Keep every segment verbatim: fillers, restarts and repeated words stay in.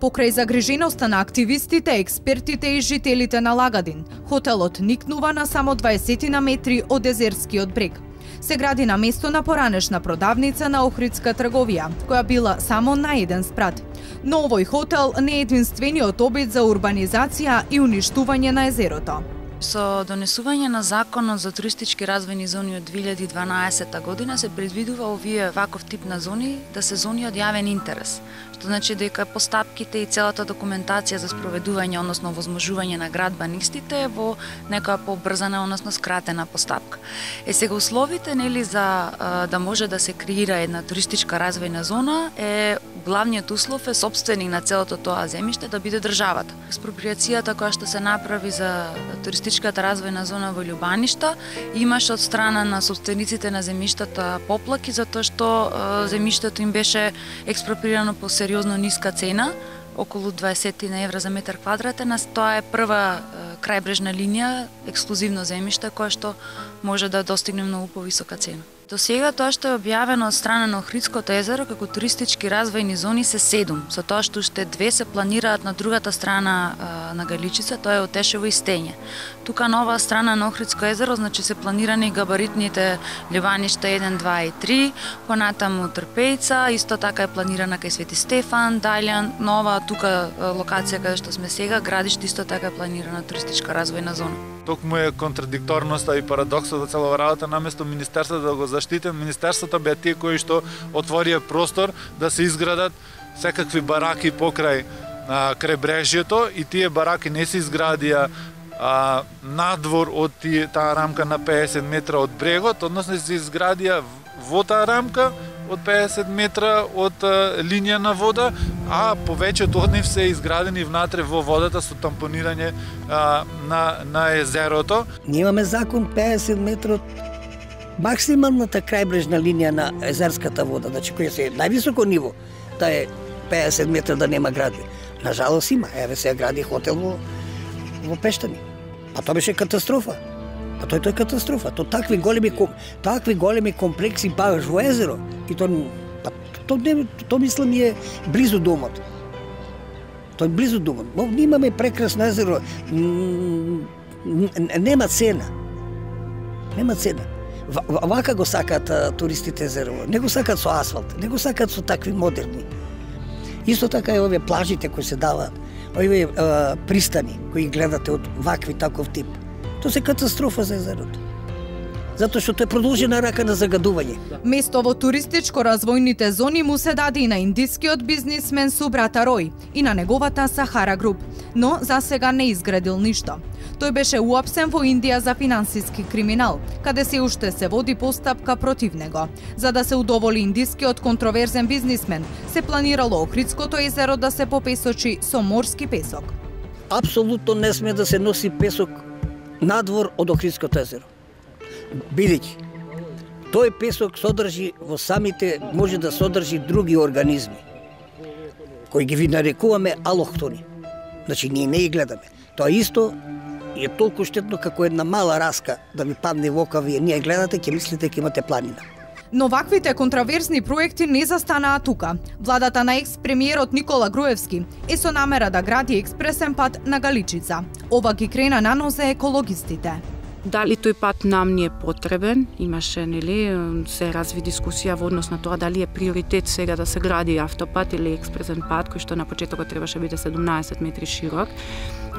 Покрај загриженоста на активистите, експертите и жителите на Лагадин, хотелот никнува на само дваесет метри од Езерскиот брег. Се гради на место на поранешна продавница на Охридска трговија, која била само на еден спрат. Но овој хотел не е единствениот обид за урбанизација и уништување на езерото. Со донесување на законот за туристички развојни зони од две илјади и дванаесета година се предвидува овие ваков тип на зони да се зони од јавен интерес, што значи дека постапките и целата документација за спроведување, односно возможување на градба на истите е во некоја побрзана, односно скратена постапка. Е сега условите нели за да може да се креира една туристичка развојна зона е главниот услов е собственик на целото тоа земјиште да биде државата. Експроприацијата која што се направи за туристичката развојна зона во Љубаништа имаше од страна на собствениците на земјиштата поплаки затоа што земјиштето им беше експроприирано по сериозно ниска цена, околу дваесет евра за метар квадратен, а тоа е прва крајбрежна линија, ексклузивно земјиште кое што може да достигне многу повисока цена. До сега тоа што е објавено од страна на Охридското езеро како туристички развојни зони се седум, со тоа што уште две се планираат на другата страна а, на Галичица, тоа е Отешево и Стење. Тука на оваа страна на Охридско езеро, значи се планирани габаритните Љубаништа еден, два и три, понатаму Трпејца, исто така е планирана кај Свети Стефан, Дајлјан, нова тука локација каде што сме сега, Градиште исто така е планирана туристичка развојна зона. Токму е контрадикторноста и парадоксот од целава работа, наместо Министерството да го заштите, Министерството беа тие кои што отворија простор да се изградат секакви бараки покрај а, крајбрежјето и тие бараки не се изградија а, надвор од тие, таа рамка на пеесет метра од брегот, односно се изградија во таа рамка од пеесет метра од а, линија на вода, а повеќето од нив се изградени внатре во водата со тампонирање а, на, на езерото. Ние имаме закон пеесет метра од максималната крајбрежна линија на езерската вода, значи која се највисоко ниво, да е пеесет метра да нема градби. Нажалост има, еве се гради хотел во, во Пештани. Па тоа беше катастрофа. Па тој тоа е катастрофа. То такви големи такви големи комплекси баш во езеро и то па то не то мислам е близу домот. Тоа е близу домот. Но ние имаме прекрасно езеро. Нема цена. Нема цена. Вака го сакаат туристите езерово. Не го сакаат со асфалт, не го сакаат со такви модерни. Исто така и овие плажите кои се даваат, овие пристани кои гледате од вакви таков тип. Тоа се катастрофа за езерото. Затоа што тоа е продолжена рака на загадување. Место во туристичко развојните зони му се даде и на индискиот бизнисмен Субрата Рој и на неговата Сахара Груп, но за сега не изградил ништо. Тој беше уапсен во Индија за финансиски криминал, каде се уште се води постапка против него. За да се удоволи индискиот контроверзен бизнисмен, се планирало Охридското езеро да се попесочи со морски песок. Апсолутно не сме да се носи песок надвор од Охридското езеро. Бидејќи тој песок содржи во самите, може да содржи други организми, кои ги ви нарекуваме алохтони. Значи, ние не ги гледаме. Тоа исто е толку штетно како една мала раска да ви падне во ока, вие ние гледате, ќе мислите ќе имате планина. Но ваквите контроверзни проекти не застанаа тука. Владата на екс-премиерот Никола Груевски е со намера да гради експресен пат на Галичица. Ова ги крена на нозе екологистите. Дали тој пат нам ни е потребен? Имаше, нели, се разви дискусија во однос на тоа дали е приоритет сега да се гради автопат или експресен пат, кој што на почетокот требаше биде седумнаесет метри широк,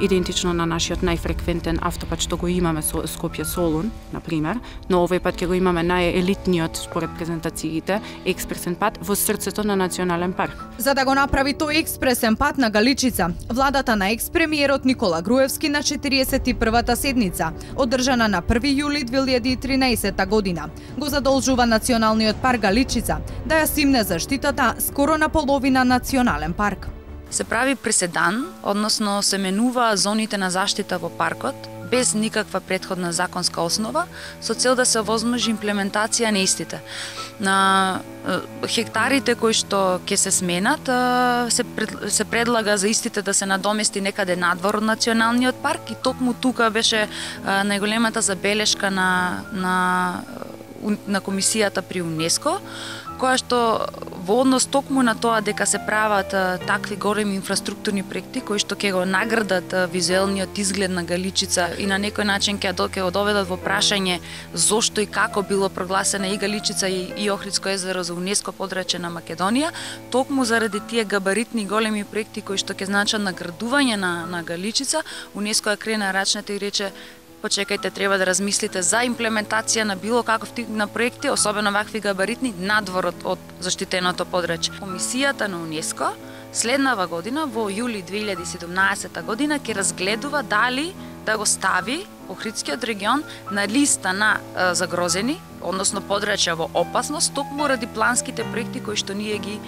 идентично на нашиот најфреквентен автопат што го имаме со Скопје-Солун, на пример, но овој пат ќе го имаме најелитниот според презентациите експресен пат во срцето на национален парк. За да го направи тој експресен пат на Галичица, владата на екс-премиерот Никола Груевски на четириесет и првата седница, одржана на први јули две илјади и тринаесета година, го задолжува Националниот парк Галичица да ја симне заштитата скоро на половина национален парк. Се прави преседан, односно се менува зоните на заштита во паркот, без никаква претходна законска основа, со цел да се овозможи имплементација на истите. На хектарите кои што ќе се сменат, се, пред, се предлага за истите да се надомести некаде надвор од Националниот парк и токму тука беше најголемата забелешка на, на на комисијата при УНЕСКО, која што во однос токму на тоа дека се прават такви големи инфраструктурни проекти кои што ќе го наградат визуелниот изглед на Галичица и на некој начин ќе го доведат во прашање зошто и како било прогласена и Галичица и, и Охридско езеро за УНЕСКО подрачје на Македонија, токму заради тие габаритни големи проекти кои што ќе значат наградување на, на Галичица, УНЕСКО ја крена рачната и рече: почекајте, треба да размислите за имплементација на било каков тип на проекти, особено вакви габаритни, надвор од, од заштитеното подрачје. Комисијата на УНЕСКО следнава година, во јули две илјади и седумнаесета година, ќе разгледува дали да го стави Охридскиот регион на листа на е, загрозени, односно подрачја во опасност, токму ради планските проекти кои што ние ги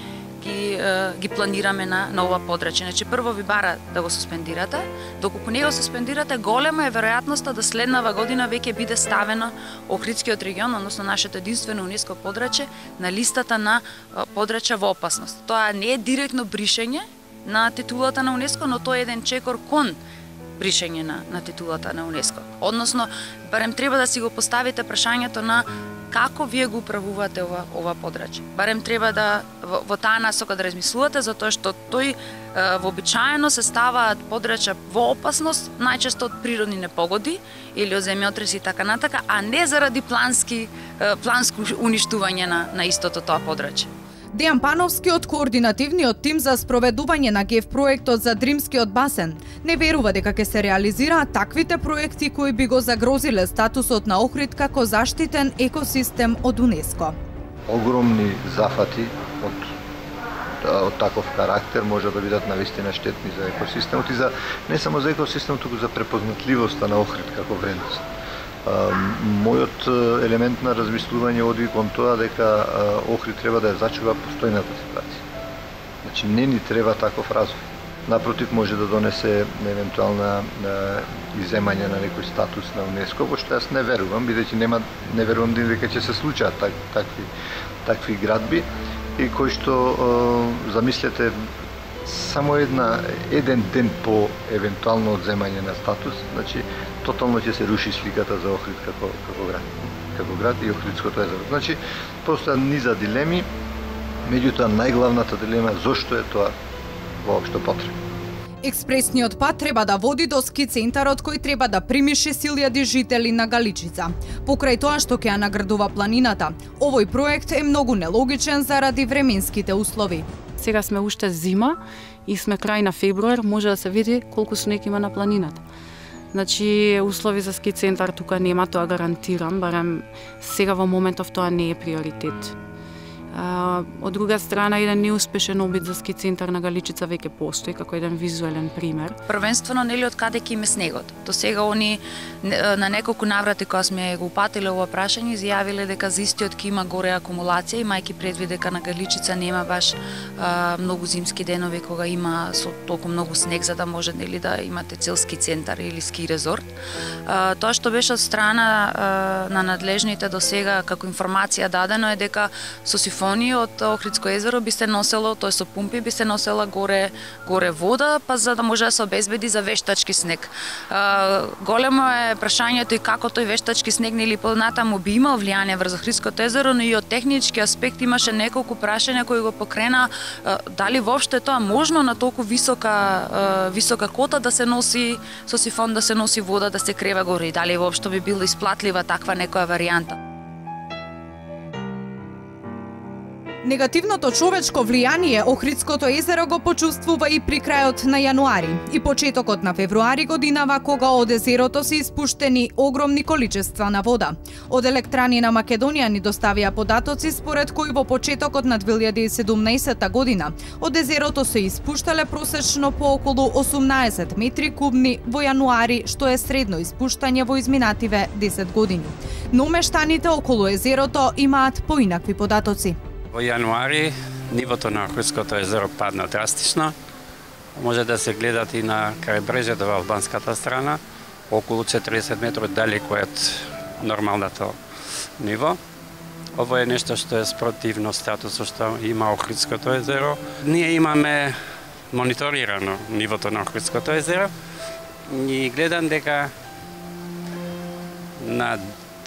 ги, ги планираме на, на ова подрачје. Значи, прво ви бара да го суспендирате, доколку не го суспендирате, голема е веројатноста да следнава година веќе биде ставено Охридскиот регион, односно нашето единствено УНЕСКО подрачје, на листата на подрачја во опасност. Тоа не е директно бришење на титулата на УНЕСКО, но тоа е еден чекор кон бришење на, на титулата на УНЕСКО. Односно, барем треба да си го поставите прашањето на како вие го управувате ова, ова подрачје. Барем треба да во, во таа насока да размислувате, затоа што тој е, вообичаено се ставаат подрачја во опасност, најчесто од природни непогоди или од земјотреси и така натака, а не заради плански, е, планско уништување на, на истото тоа подрачје. Дејан Пановски од координативниот тим за спроведување на ГЕФ проектот за Дримскиот басен не верува дека ќе се реализираат таквите проекти кои би го загрозиле статусот на Охрид како заштитен екосистем од УНЕСКО. Огромни зафати од, од таков карактер може да бидат навистина штетни за екосистемот и за не само за екосистемот, туку за препознатливоста на Охрид како вредност. Мојот елемент на размислување оди кон тоа дека Охрид треба да ја зачува постојната ситуација. Значи, не ни треба таков развој. Напротив, може да донесе евентуална иземање на некој статус на УНЕСКО, во што јас не верувам, бидејќи нема не верувам дека ќе се случаат так, такви такви градби и кои што замислете само една еден ден по евентуално одземање на статус, значи тотално ќе се руши сликата за Охрид како како град, како град и Охридското езеро. Значи постојат низа дилеми, меѓутоа најглавната дилема е зошто е тоа воопшто потребно. Експресниот пат треба да води до ски центарот кој треба да прими шест илјади жители на Галичица. Покрај тоа што ќе ја наградува планината, овој проект е многу нелогичен заради временските услови. Сега сме уште зима и сме крај на февруар, може да се види колку снег има на планината. Значи, услови за ски центар тука нема, тоа гарантирам, барем сега во моментов тоа не е приоритет. А, од друга страна, еден неуспешен обид за ски центар на Галичица веќе постои како еден визуелен пример. Првенствено, нели од каде ќе име снегот? До сега они на неколку наврати кога сме го упатиле ова прашање, изјавиле дека за истиот ќе има горе акумулација, имајќи предвид дека на Галичица нема баш а, многу зимски денови кога има со толку многу снег за да може нели да имате цел ски центар или ски резорт. А, тоа што беше од страна а, на надлежните до сега како информација дадено е дека со сифон од Охридско езеро би се носело, тоа со пумпи би се носела горе горе вода, па за да може да се обезбеди за вештачки снег. А, големо е прашањето и како тој вештачки снег нели понатаму би имал влијание врз Охридското езеро, но и од технички аспект имаше неколку прашања кои го покрена а, дали воопшто е тоа можно на толку висока а, висока кота да се носи со сифон да се носи вода да се крева горе и дали воопшто би било исплатлива таква некоја варијанта. Негативното човечко влијание Охридското езеро го почувствува и при крајот на јануари и почетокот на февруари годинава кога од езерото се испуштени огромни количества на вода. Од Електрани на Македонија ни доставија податоци според кои во почетокот на две илјади и седумнаесета година од езерото се испуштале просечно по околу осумнаесет метри кубни во јануари, што е средно испуштање во изминативе десет години. Но мештаните околу езерото имаат поинакви податоци. Во јануари нивото на Охридското езеро падна драстично. Може да се гледат и на крајбрежјето во албанската страна, околу четириесет метри далеко од нормалното ниво. Ово е нешто што е спротивно статусот што има Охридското езеро. Ние имаме мониторирано нивото на Охридското езеро и гледам дека на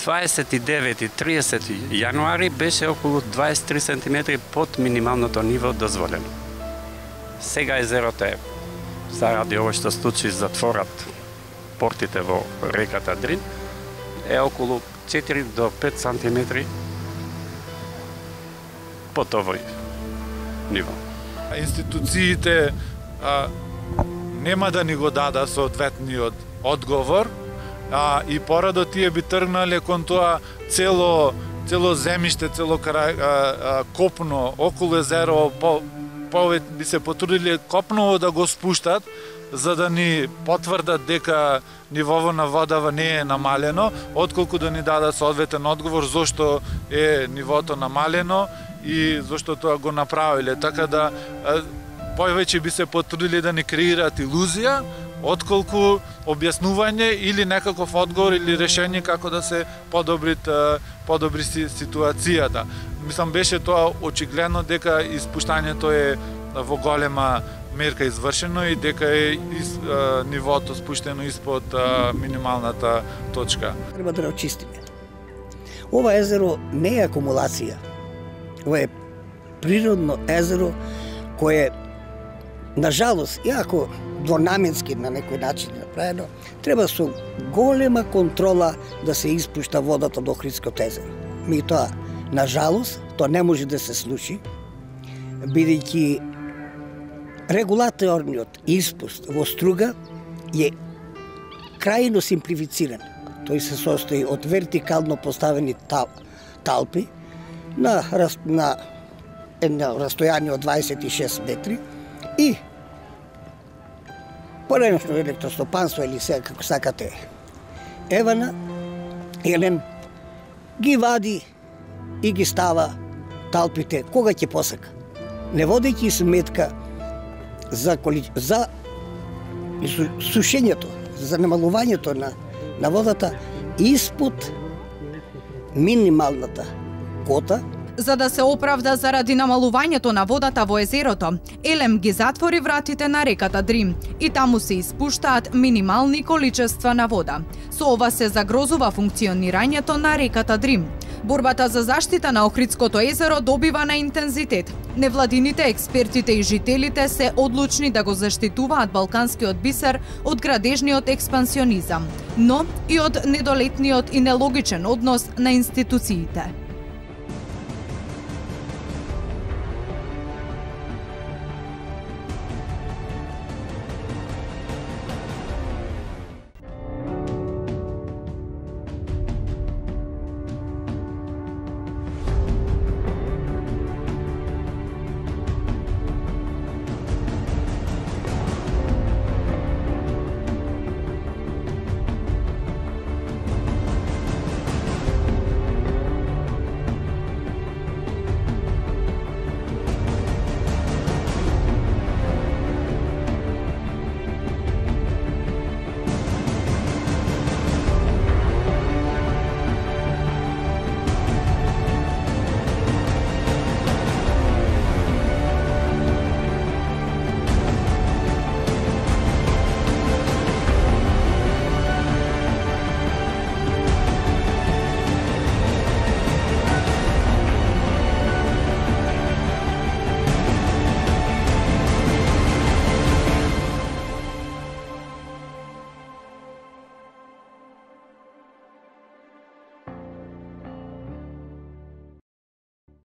дваесет и девети и тридесети јануари беше околу дваесет и три сантиметри под минималното ниво дозволено. Сега езерото е, заради ово што случи затворат портите во реката Дрин, е околу четири до пет сантиметри под овој ниво. Институциите а, нема да ни го дадат соодветниот одговор, а, и порадо тие би тргнале кон тоа цело цело земјиште, цело крај а, а, копно околу езеро, по, повеќе би се потрудиле копново да го спуштат, за да ни потврдат дека нивово на водава не е намалено, отколку да ни дадат соодветен одговор зошто е нивото намалено и зошто тоа го направиле. Така да повеќе би се потрудиле да ни креираат илузија, отколку објаснување или некаков одговор или решение како да се подобри подобри ситуацијата. Мислам, беше тоа очигледно дека испуштањето е во голема мерка извршено и дека е из, а, нивото спуштено испод а, минималната точка. Треба да очистиме. Ова езеро не е акумулација. Ова е природно езеро кое, нажалост, иако двонаменски на некој начин направено, треба со голема контрола да се испушта водата до Охридското езеро. Меѓутоа, нажалост, тоа не може да се случи, бидејќи регулаторниот испуст во струга е крајно симплифициран. Тој се состои од вертикално поставени тал, талпи на, на едно растојание од дваесет и шест метри и пореношно електростопанство или сега како сакате Евана, Елен ги вади и ги става талпите кога ќе посака, не водејќи сметка за, коли... за сушењето, за намалувањето на, на водата испод минималната кота. За да се оправда заради намалувањето на водата во езерото, Елем ги затвори вратите на реката Дрим и таму се испуштаат минимални количества на вода. Со ова се загрозува функционирањето на реката Дрим. Борбата за заштита на Охридското езеро добива на интензитет. Невладините, експертите и жителите се одлучни да го заштитуваат балканскиот бисер од градежниот експансионизам, но и од недолетниот и нелогичен однос на институциите.